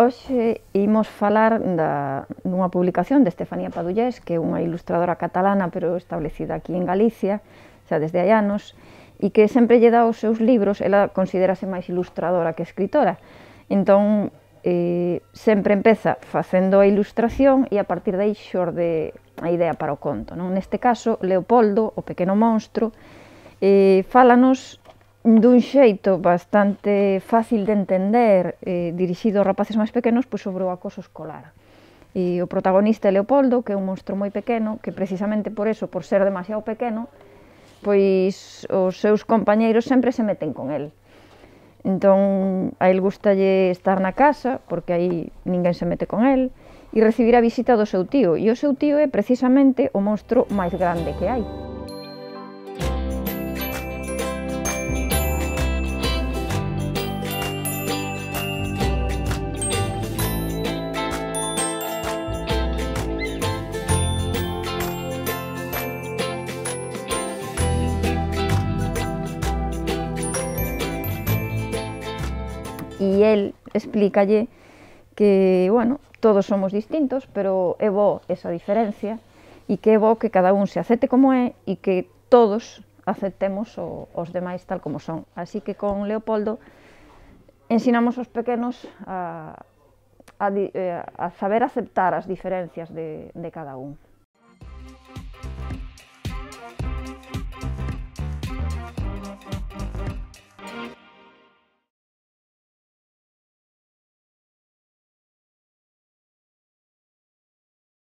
Hoxe imos falar dunha publicación de Estefanía Padullés, que é unha ilustradora catalana, pero establecida aquí en Galicia, xa desde hai anos, e que sempre lle dá os seus libros, ela considérase máis ilustradora que escritora. Entón, sempre empeza facendo a ilustración e a partir de aí xorde a idea para o conto, non? Neste caso, Leopoldo, o pequeno monstro, fálanos dun xeito bastante fácil de entender, dirixido aos rapaces máis pequenos, pois sobre o acoso escolar. E o protagonista é Leopoldo, que é un monstro moi pequeno, que precisamente por eso, por ser demasiado pequeno, pois os seus compañeiros sempre se meten con el. Entón, a el gustalle estar na casa, porque aí ninguén se mete con el, e recibir a visita do seu tío, e o seu tío é precisamente o monstro máis grande que hai. E el explícalle que, bueno, todos somos distintos, pero é bo esa diferencia e que é bo que cada un se acepte como é e que todos aceptemos os demais tal como son. Así que con Leopoldo ensinamos aos pequenos a saber aceptar as diferencias de cada un.